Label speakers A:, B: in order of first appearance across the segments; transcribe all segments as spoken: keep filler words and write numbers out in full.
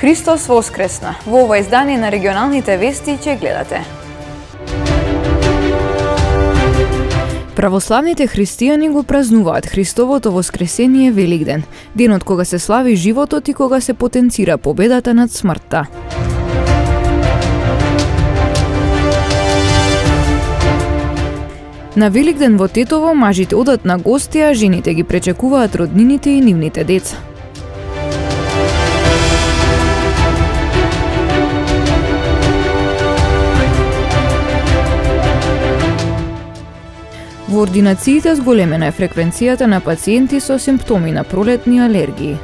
A: Христос воскресна! Во ова издание на регионалните вести ќе гледате. Православните христијани го празнуваат Христовото воскресение Великден, денот кога се слави животот и кога се потенцира победата над смртта. На Великден во Тетово мажите одат на гости, а жените ги пречекуваат роднините и нивните деца. Во ординациите зголемена е фреквенцијата на пациенти со симптоми на пролетни алергии.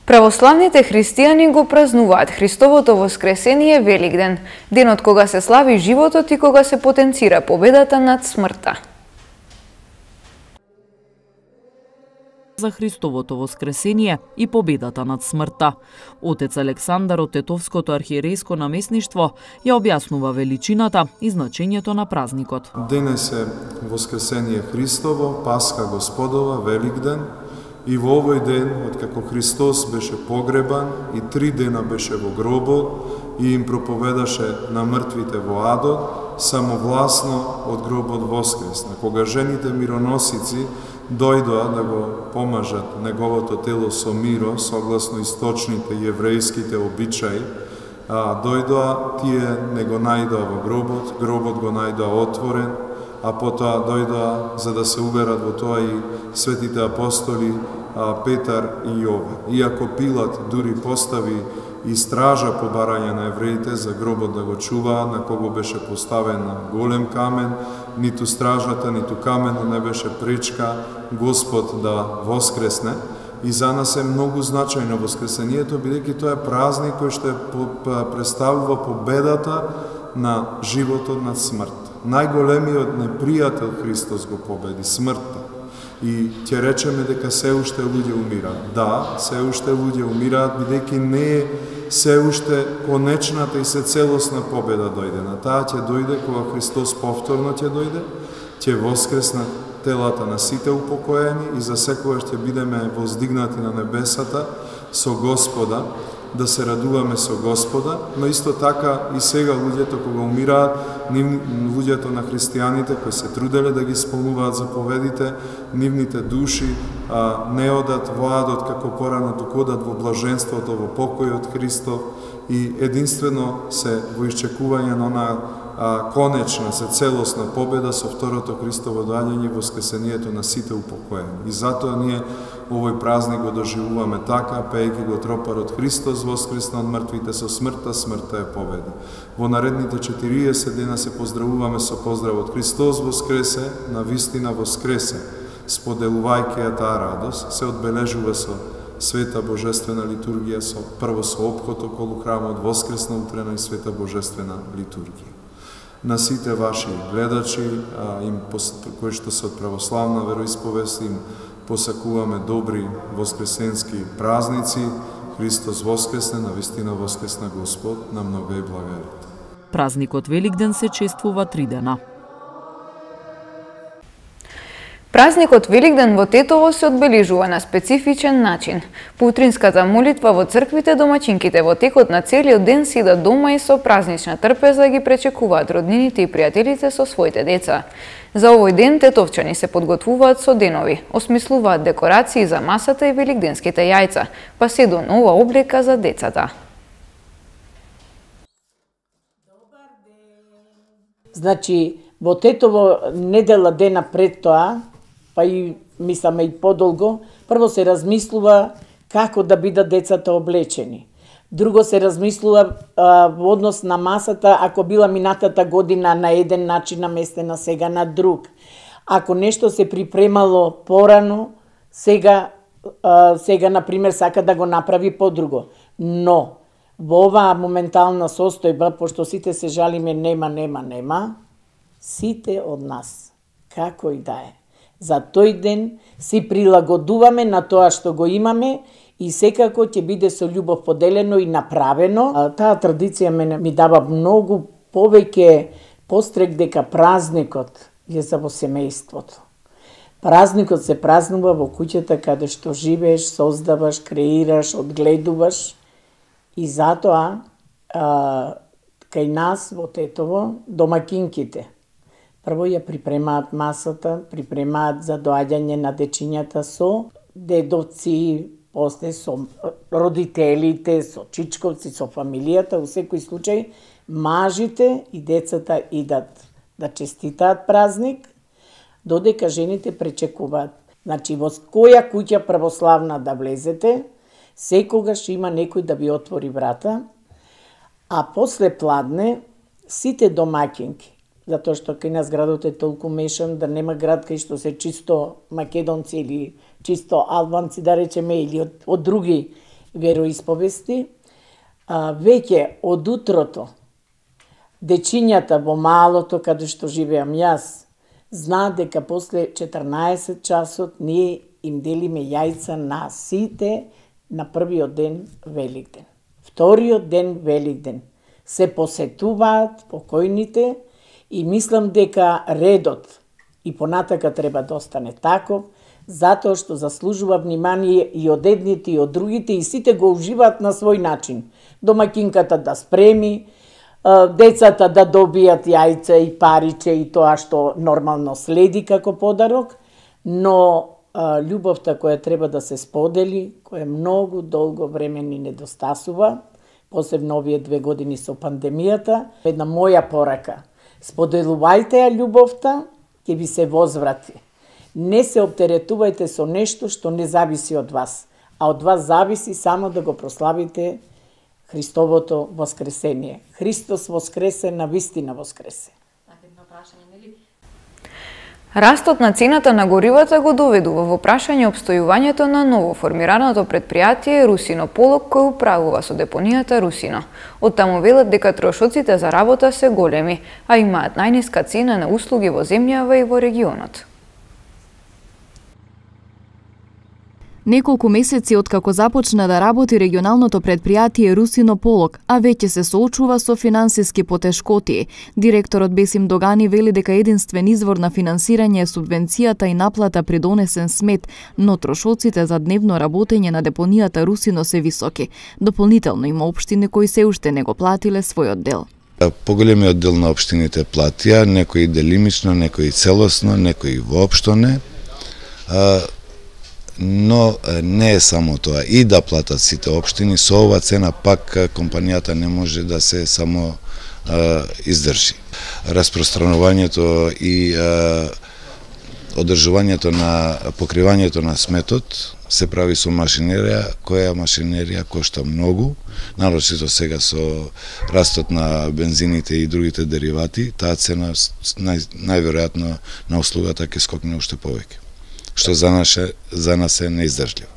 A: Православните христијани го празнуваат Христовото воскресение Великден, денот кога се слави животот и кога се потенцира победата над смртта.
B: За Христовото воскресение и победата над смртта. Отец Александар од Тетовското архиерејско наместништво ја објаснува величината и значењето на празникот.
C: Денес е Воскресение Христово, Пасха Господова, Великден, и во овој ден, откако Христос беше погребан и три дена беше во гробот и им проповедаше на мртвите во адот, самовласно од гробот воскресна. Кога жените мироносици дојдоа да го помажат неговото тело со миро, согласно источните јеврејските обичаи, а, дојдоа, тие не го најдоа во гробот, гробот го најдоа отворен, а потоа дојдоа за да се уверат во тоа и светите апостоли а, Петар и Јован. Иако Пилат дури постави и стража по барање на евреите за гробот да го чуваа, на кого беше поставен на голем камен, ниту стражата, ниту каменот не беше пречка Господ да воскресне. И за нас е многу значајно воскресението, бидејќи тоа е празник кој што представува победата на животот над смрт. Најголемиот непријател Христос го победи, смртта. И ќе речеме дека се уште луѓе умираат. Да, се уште луѓе умираат, бидејќи не е се уште конечната и се целосна победа дојдена. Таа ќе дојде кога Христос повторно ќе дојде, ќе воскреснат телата на сите упокоени и за секогаш ќе бидеме воздигнати на небесата со Господа, да се радуваме со Господа, но исто така и сега луѓето кога умираат, луѓето на христијаните кои се труделе да ги исполнуваат заповедите, нивните души а, не одат во адот како порано, туку одат во блаженството, во покојот Христов и единствено се во исчекување на онаа а, конечна, се целосна победа со второто Христово доаѓање, воскресението на сите упокоени. И затоа ние овој празник го доживуваме така, пејќи го тропарот Христос воскресна од мртвите, со смртта, смртта е победа. Во наредните четириесет дена се поздравуваме со поздравот Христос воскресе, на вистина воскресе. Споделувајќи ја таа радост, се одбележува со света божествена литургија, со прво со опход околу храмот, воскресна утрена и света божествена литургија. На сите ваши гледачи, а, им, кои што се од православна вероисповест, им посакуваме добри воскресенски празници. Христос воскресне, на вистина воскресна Господ, на многа и благарите.
B: Празникот Великден се чествува три дена.
A: Празникот Великден во Тетово се одбележува на специфичен начин. По утринската молитва во црквите, домаќинките во текот на целиот ден сидат дома и со празнична трпеза ги пречекуваат роднините и пријателите со своите деца. За овој ден тетовчани се подготвуваат со денови, осмислуваат декорации за масата и великденските јајца, па се до нова облека за децата.
D: Значи, во Тетово недела дена пред тоа, па и мисламе и подолго, прво се размислува како да бидат децата облечени. Друго се размислува а, во однос на масата, ако била минатата година на еден начин наместена, сега на друг. Ако нешто се припремало порано, сега, а, сега например, сака да го направи подруго. Но, во оваа моментална состојба, пошто сите се жалиме нема, нема, нема, сите од нас, како и да е, за тој ден си прилагодуваме на тоа што го имаме и секако ќе биде со љубов поделено и направено. А, таа традиција мене ми дава многу повеќе пострек дека празникот е за во семејството. Празникот се празнува во куќата каде што живееш, создаваш, креираш, одгледуваш и затоа а, кај нас во Тетово домакинките прво ја припремаат масата, припремаат за доаѓање на дечињата со дедовци, после со родителите, со чичковци, со фамилијата, во секој случај мажите и децата идат да честитаат празник, додека жените пречекуваат. Значи, во која куќа православна да влезете, секогаш има некој да ви отвори врата, а после пладне сите домакинки, затоа што кај нас градот е толку мешан да нема град кај што се чисто македонци или чисто албанци, да речеме, или од, од други вероисповести, а, веќе од утрото дечињата во малото каде што живеам јас знаат дека после четрнаесет часот ние им делиме јајца на сите на првиот ден Великден. Вториот ден Великден се посетуваат покојните и мислам дека редот и понатака треба да остане таков, затоа што заслужува внимание и од едните и од другите и сите го уживаат на свој начин. Домакинката да спреми, децата да добијат јајца и париче и тоа што нормално следи како подарок, но а, љубовта која треба да се сподели, која многу долго време ни недостасува, посебно овие две години со пандемијата, една моја порака. Споделувајте ја љубовта, ќе ви се возврати. Не се оптеретувајте со нешто што не зависи од вас, а од вас зависи само да го прославите Христовото воскресение. Христос воскресе, навистина воскресе.
A: Растот на цената на горивата го доведува во прашање обстојувањето на ново формираното предпријатие Русино Полок кој управува со депонијата Русино. Од таму велат дека трошоците за работа се големи, а имаат најниска цена на услуги во земјава и во регионот.
E: Неколку месеци откако започна да работи регионалното предпријатие Русино Полок, а веќе се соочува со финансиски потешкоти. Директорот Бесим Догани вели дека единствен извор на финансирање е субвенцијата и наплата при донесен смет, но трошоците за дневно работење на депонијата Русино се високи. Дополнително има општини кои се уште не го платиле својот дел.
F: Поголемиот дел на општините платија, некои делимично, некои целосно, некои воопшто не. Но не е само тоа, и да платат сите општини, со ова цена пак компанијата не може да се само а, издржи. Распространувањето и а, одржувањето на покривањето на сметот се прави со машинерија, која машинерија кошта многу, нарочито сега со растот на бензините и другите деривати, таа цена нај, најверојатно на услугата ќе скокне уште повеќе, што за нас, за нас е неиздржливо.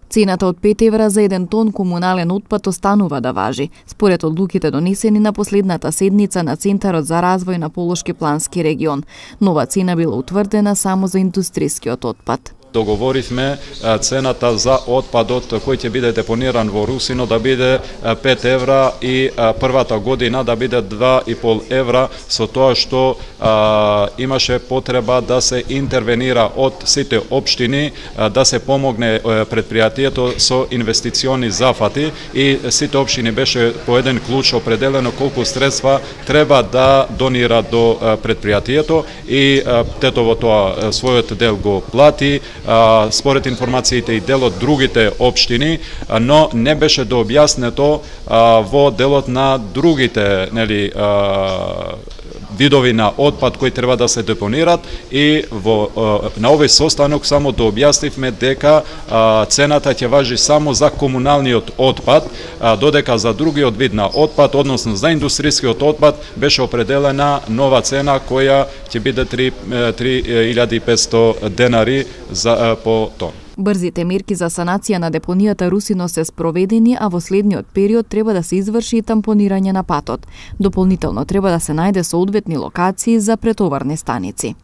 E: Цената од пет евра за еден тон комунален отпад останува да важи, според одлуките донесени на последната седница на Центарот за развој на Полошки плански регион. Нова цена била утврдена само за индустријскиот отпад.
G: Договоривме цената за отпадот кој ќе биде депониран во Русино да биде пет евра и првата година да биде два и пол евра, со тоа што а, имаше потреба да се интервенира од сите општини, а, да се помогне предпријатието со инвестициони зафати и сите општини беше по еден клуч определено колку средства треба да донира до предпријатието и а, Тетово тоа својот дел го плати, според информациите и дел од другите општини, но не беше дообјаснето во делот на другите, нели, видови на отпад кои треба да се депонират и во на овој состанок само дообјаснивме дека цената ќе важи само за комуналниот отпад, додека за другиот вид на отпад, односно за индустријскиот отпад, беше определена нова цена која ќе биде три илјади и петсто денари за по тон.
E: Брзите мерки за санација на депонијата Русино се спроведени, а во следниот период треба да се изврши и тампонирање на патот. Дополнително треба да се најде соодветни локации за претоварни станици.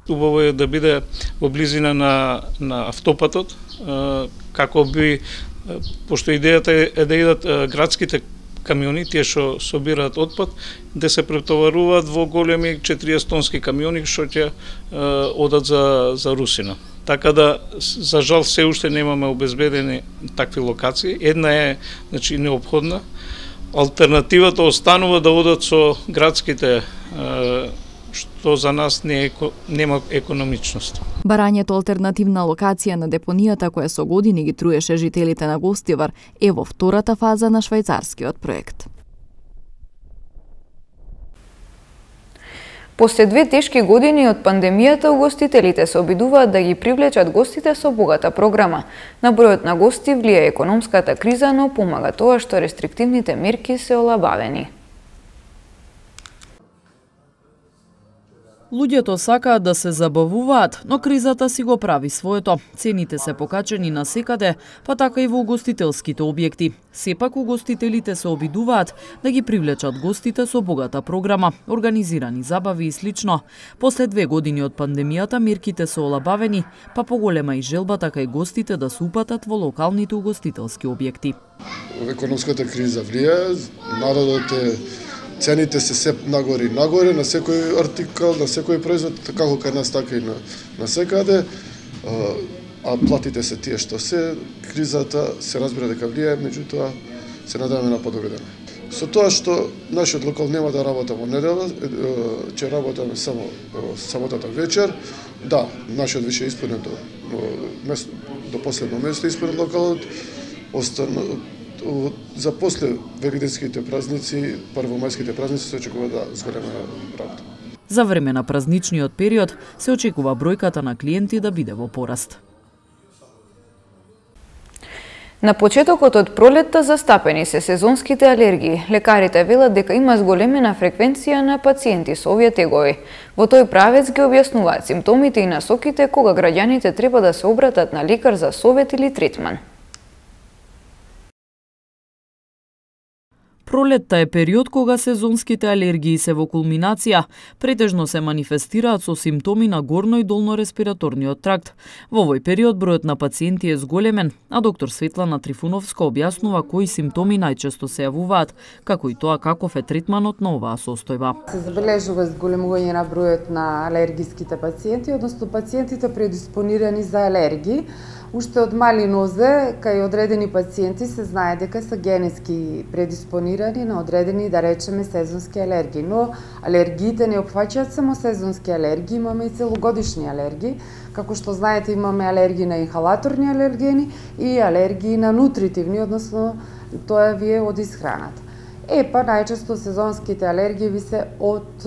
H: Убаво е да биде во близина на, на автопатот, како би, пошто идејата е да идат градските камиони, тие што собираат отпад, да се претоваруваат во големи четириесет тонски камиони што ќе одат за за Русина. Така да, за жал, се уште немаме обезбедени такви локации. Една е, значи, неопходна. Алтернативата останува да одат со градските, што за нас не е, нема економичност.
E: Барањето алтернативна локација на депонијата која со години ги труеше жителите на Гостивар е во втората фаза на швајцарскиот проект.
A: После две тешки години од пандемијата, угостителите се обидуваат да ги привлечат гостите со богата програма. На бројот на гости влијае економската криза, но помага тоа што рестриктивните мерки се олабавени.
B: Луѓето сакаат да се забавуваат, но кризата си го прави своето. Цените се покачени на секаде, па така и во угостителските објекти. Сепак угостителите се обидуваат да ги привлечат гостите со богата програма, организирани забави и слично. После две години од пандемијата мерките се олабавени, па поголема и желбата кај гостите да се упатат во локалните угостителски објекти.
I: Економската криза влијае, народот е цените се се нагоре и нагоре на секој артикал, на секој производ, како кај нас, така и на, на секаде, а платите се тие што се, кризата се разбира дека влијае, меѓутоа се надеваме на подобри дена. Со тоа што нашиот локал нема да работа во недела, ќе работаме само саботата вечер, да, нашиот више исполнет до, до, до последно место исполнет локалот, остана, за после великденските празници, првомајските празници се очекува да зголема работа.
B: За време на празничниот период се очекува бројката на клиенти да биде во пораст.
A: На почетокот од пролетта застапени се сезонските алергии. Лекарите велат дека има зголемена фреквенција на пациенти со овие тегови. Во тој правец ги објаснуваат симптомите и насоките кога граѓаните треба да се обратат на лекар за совет или третман.
B: Пролетта е период кога сезонските алергии се во кулминација, претежно се манифестираат со симптоми на горно и долно респираторниот тракт. Во овој период бројот на пациенти е зголемен, а доктор Светлана Трифуновска објаснува кои симптоми најчесто се јавуваат, како и тоа каков е третманот на оваа состојба.
J: Се забележува зголемување на бројот на алергиските пациенти, односно пациентите предиспонирани за алергии. Уште од мали нозе, кај одредени пациенти се знае дека се генетски предиспонирани на одредени, да речеме, сезонски алергии. Но алергиите не опфаќаат само сезонски алергии, имаме и целогодишни алергии. Како што знаете, имаме алергии на инхалаторни алергени и алергии на нутритивни, односно тоа ви е од исхраната. Е, па најчесто сезонските алергии ви се од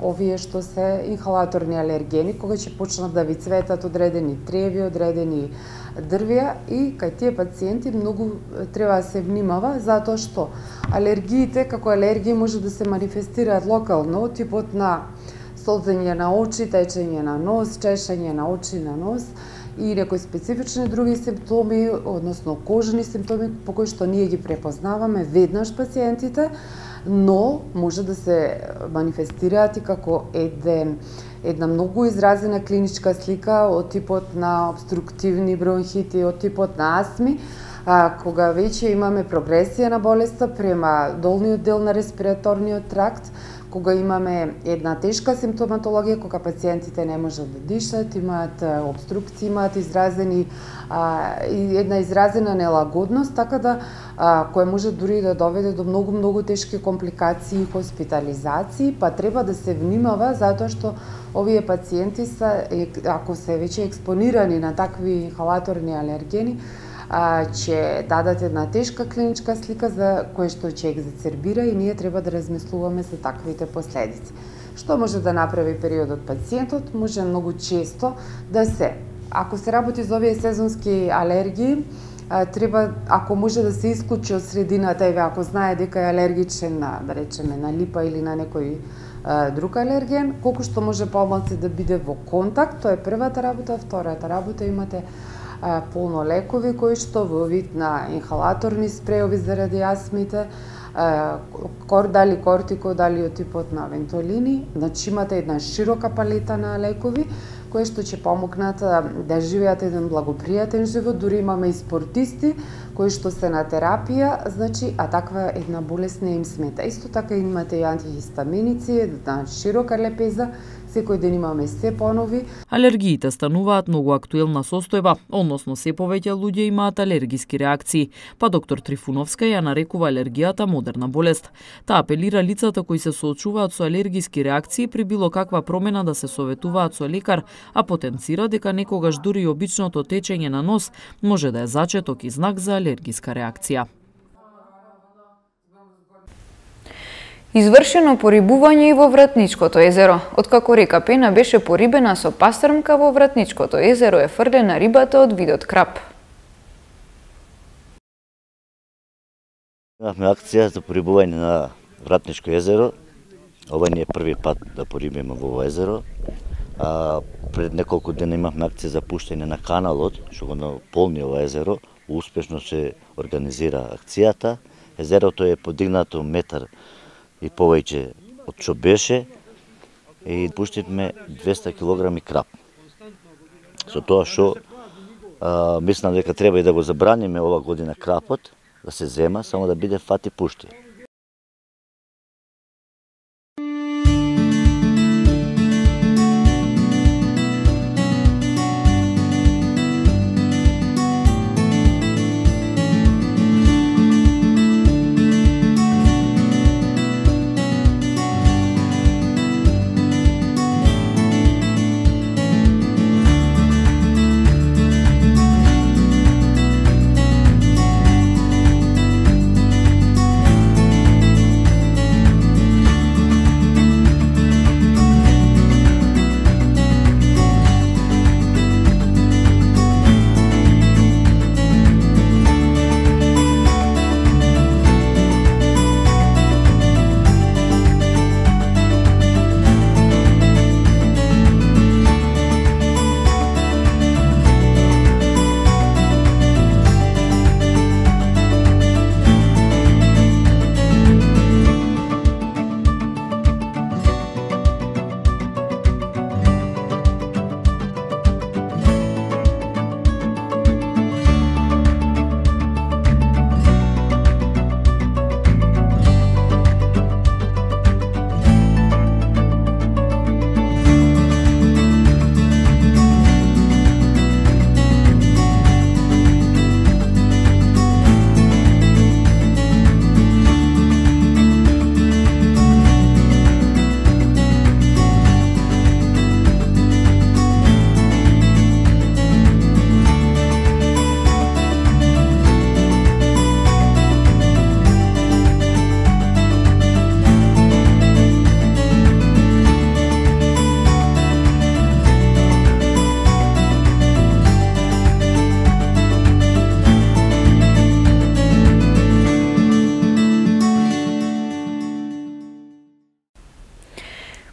J: овие што се инхалаторни алергени, кога ќе почнат да ви цветат одредени треви, одредени дрвја, и кај тие пациенти многу треба да се внимава, затоа што алергиите како алергии може да се манифестираат локално, типот на солзење на очи, течење на нос, чешење на очи, на нос и некои специфични други симптоми, односно кожни симптоми по кои што ние ги препознаваме веднаш пациентите, но може да се манифестираат и како еден една многу изразена клиничка слика од типот на обструктивни бронхити, од типот на астми, а, кога веќе имаме прогресија на болеста према долниот дел на респираторниот тракт, кога имаме една тешка симптоматологија, кога пациентите не можат да дишат, имаат обструкции, имаат изразени а, и една изразена нелагодност, така да а, која може дури да доведе до многу многу тешки компликации и хоспитализации, па треба да се внимава затоа што овие пациенти се, ако се веќе експонирани на такви инхалаторни алергени, а, ќе дадат една тешка клиничка слика за која што ќе екзацербира и ние треба да размислуваме за таквите последици. Што може да направи периодот пациентот? Може многу често да се, ако се работи за овие сезонски алергии, а, треба, ако може да се исклучи од средината, еве ако знае дека е алергичен на, да речеме, на липа или на некој а, друг алерген, колку што може помалку да биде во контакт, тоа е првата работа. Втората работа, имате а, полно лекови кои што во вид на инхалаторни спреови заради астмите, а, кор, дали кортико, дали од типот на вентолини, значи имате една широка палета на лекови кои што ќе помогнат да живеат еден благопријатен живот. Дури имаме и спортисти кои што се на терапија, значи, а таква една болест не им смета. Исто така имате и антихистаминици, на широка лепеза, секој ден имаме се понови.
B: Алергиите стануваат многу актуелна состојба, односно се повеќе луѓе имаат алергиски реакции, па доктор Трифуновска ја нарекува алергијата модерна болест. Таа апелира лицата кои се соочуваат со алергиски реакции при било каква промена да се советуваат со лекар, а потенцира дека некогаш дури и обичното течење на нос може да е зачеток и знак за алергиска реакција.
A: Извршено порибување и во Вратничкото езеро. Откако река Пена беше порибена со пастрмка, во Вратничкото езеро е фрлена рибата од видот крап.
K: Имавме акција за порибување на Вратничко езеро. Ова не е први пат да порибиме во ова езеро. А, пред неколку дена имавме акција за пуштање на каналот, што го наполни ова езеро. Успешно се организира акцијата. Езерото е подигнато метар и повеќе од што беше и пуштивме двесте килограми крап. Со тоа што мислам дека треба и да го забраниме ова година крапот, да се зема, само да биде фат и пушти.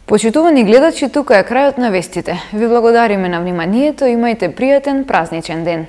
A: Почитувани гледачи, тука е крајот на вестите. Ви благодариме на вниманието, имајте пријатен празничен ден.